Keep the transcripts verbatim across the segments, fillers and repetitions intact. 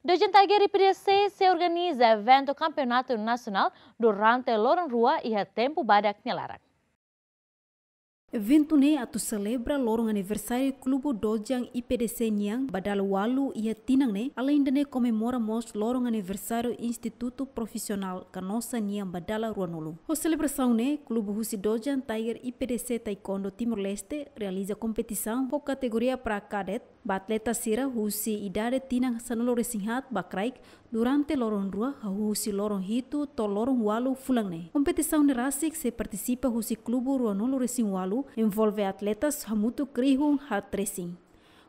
Dojan Tiger I P D C sei organiza eventu kampeonatu nasionál durante loron rua iha tempu badak nia laran. Eventu ne'e atu selebra loron aniversáriu Klube Dojan I P D C nian ba dala ualu iha tinan ne'e, aleinde ne'e komemora mós loron aniversáriu Institutu Profisionál Canossa nian ba dala ruanulu. Ho selebrasaun ne'e, klube husi Dojan Tiger I P D C Taekwondo Timor-Leste realiza kompetisaun ho kategoria pra kadet ba atleta sira husi idade tinan sanulu-resin-haat ba kraik durante loron rua, hahú husi loron hitu to'o loron ualu fulan ne'e. Kompetisaun ne'e rasik sei partisipa husi klube ruanulu-resin-ualu, envolve atletas hamutuk rihun haat-resin.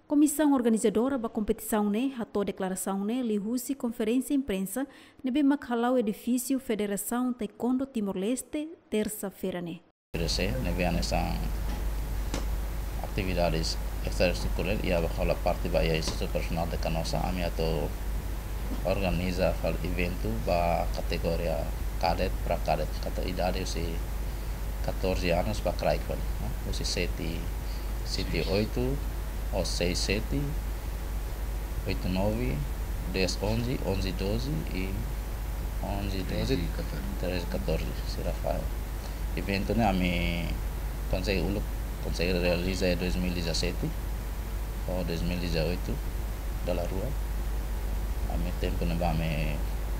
Komisaun organizadora ba kompetisaun ne'e hato'o deklarasaun ne'e liuhusi konferénsia imprensa ne'ebé mak hala'o edifísiu Federasaun Taekwondo Timor-Leste, tersa-feira ne'e. Oferese, ne'ebé hanesan atividades extraescolares, iha ba hola parte ba iha Institutu Profisionál de Canossa, ami atu organiza fali eventu ba kategoria kadet, pra kadet, kategoria idade husi catorze anos ba kraik fali, no? Husi sete, sete oito, ou seis sete, oito nove, dez onze, onze doze e onze doze, treze catorze. Treze catorze, sira fali. Eventu ne'e ami konsege uluk, konsege realiza iha dois mil e dezassete ou dois mil e dezoito, dala rua. Ami tempu ne'ebá ami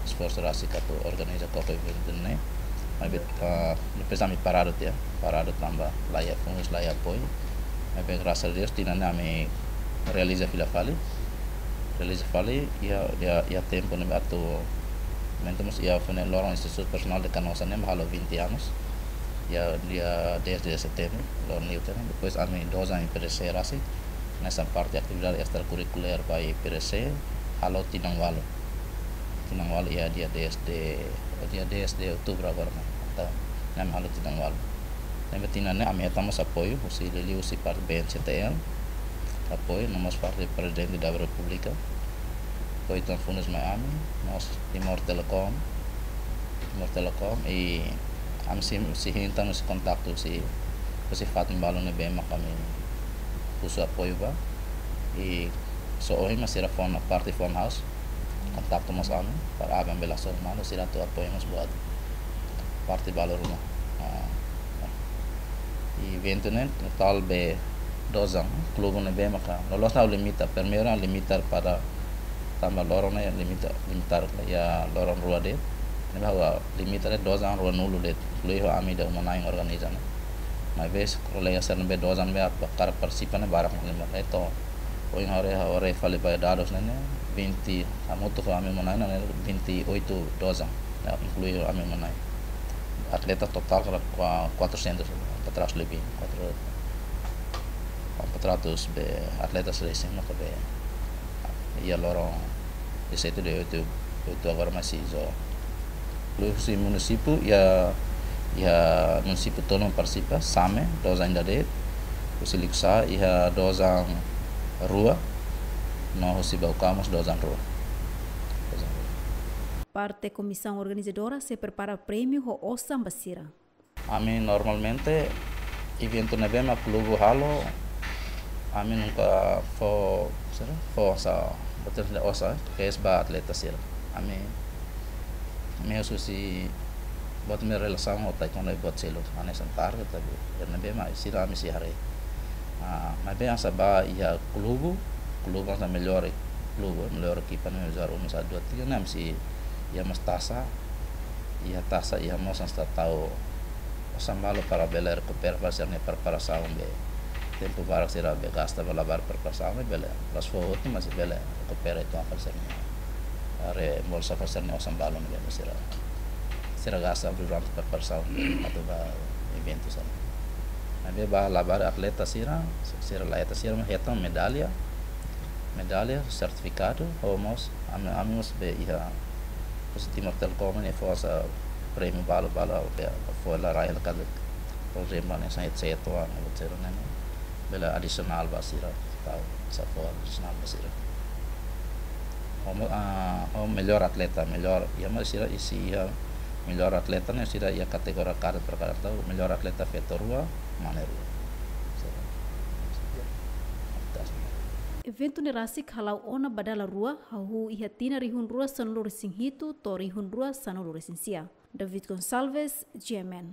esforsu rasik atu organiza koko eventu ne'e. Maibé, ah, depois ami paradu tiha, paradu tanba laiha fundus, laiha apoiu. Maibé, grasas a Deus, tinan ne'e ami realiza fila fali. Realiza fali, iha, iha, iha tempu ne'ebé atu, momentu mós iha fene loron Institutu Profisionál de Canossa ne'e mak halo vinte anos. Iha dia dez de setembru, loron liu tiha ne'e. Depois ami Dojan I P D C rasik, hanesan parte atividade extrakurrikulár ba I P D C, halo tinan ualu. Tinan ualu iha dia dez de, dia dez de outubro agora, no? Entaun, ne'e ami halo tinan ualu. Ne'ebé tinan ne'e ami hetan mós apoiu husi, liuliu husi parte B N C T L, apoiu, no mós parte Prezidente da Repúblika, apoiu tan fundus mai ami, mós Timor Telecom, Timor Telecom, i ami sei, sei hein tan husi kontaktu husi, husi fatin balu ne'ebé mak ami husu apoiu ba, i só ohin mak sira fó ona parte phone house, kontaktu mós ami, para aban bela sor malu, sira atu apoiu mós buat parte balu ruma. Ah, i eventu ne'e totál be Dojan, klube ne'ebé maka, loloos ne'e limita, primeiru limita para tanba loron ne'e limita, limita iha loron rua de'it, ne'ebé limita de'it Dojan ruanulu de'it, inklui ho ami ida uma-na'in organiza ne'e. Maibé kolega sira ne'ebé Dojan be atu hakarak partisipa ne'e barak mak limita, entaun, ohin ha'u haree, ha'u haree fali ba dadus ne'e, ne'e, vinte, hamutuk ho ami uma-na'in ne'e, vinte e oito Dojan, ya, inklui ami uma-na'in. Atleta totál kala kua-, quatrocentos, para trás lebih, quatro, quatrocentos be atletas recém no be, iha loron dezassete, dezoito, oito agora masih zo. Husi munisípiu, iha, iha munisípiu tolu partisipa, Same, Dojan ida de'it, husi Liquiçá, iha Dojan rua, no husi Baucau mós Dojan rua. Dojan rua. Parte komisaun organizadora sei prepara prémiu ho osan ba sira. Ami normalmente eventu ne'ebé mak klube halo, ami nunka fó, sira, fó osan, buat sira osan, kedas ba atleta sira. Ami, ami husi buat ne'e relasaun ho taekwondo i buat seluk, hanesan target, tapi ne'ebé mak sira ami sei haree. Ah, maibé hanesan ba iha klube, klube hanesan melhor klube, melhor ekipa ne'e, jogadór um, hanesan dua, tiga, ne'e ami sei iha mós tasa, iha tasa, iha mós hanesan tau osan balu para bele rekupera fali sira-nia preparasaun be tempu barak sira be gasta ba labarik preparasaun be bele, la'ós fó hotu, mas bele rekupera uitoan fali sira-nia, reembolsa fali sira-nia osan balu ne'ebé sira, sira gasta durante preparasaun be atu ba eventu sira. Maibé ba labarik atleta sira, sira la hetan, sira hetan medalla, medalla, sertifikadu, ho mós ami, ami mós be iha, husi Timor Telecom ne'e fó osan prémiu balu, balu, be, fó la rai la kali, por ezemplu, hanesan headset, ou, hanesan ne'e, bele adisionál ba sira, tau, osan fó adisionál ba sira. Ho mo-, ah, ho melhor atleta, melhor, iha mós sira, i sei iha melhor atleta ne'e sira iha kategoria kadet pra kadet, tau, melhor atleta feto rua, mane rua. Sira. Eventu ne'e rasik hala'o ona ba dala rua, hahú iha tinan rihun rua sanulu resin hitu to'o rihun rua sanulu resin sia. David Gonçalves, G M N.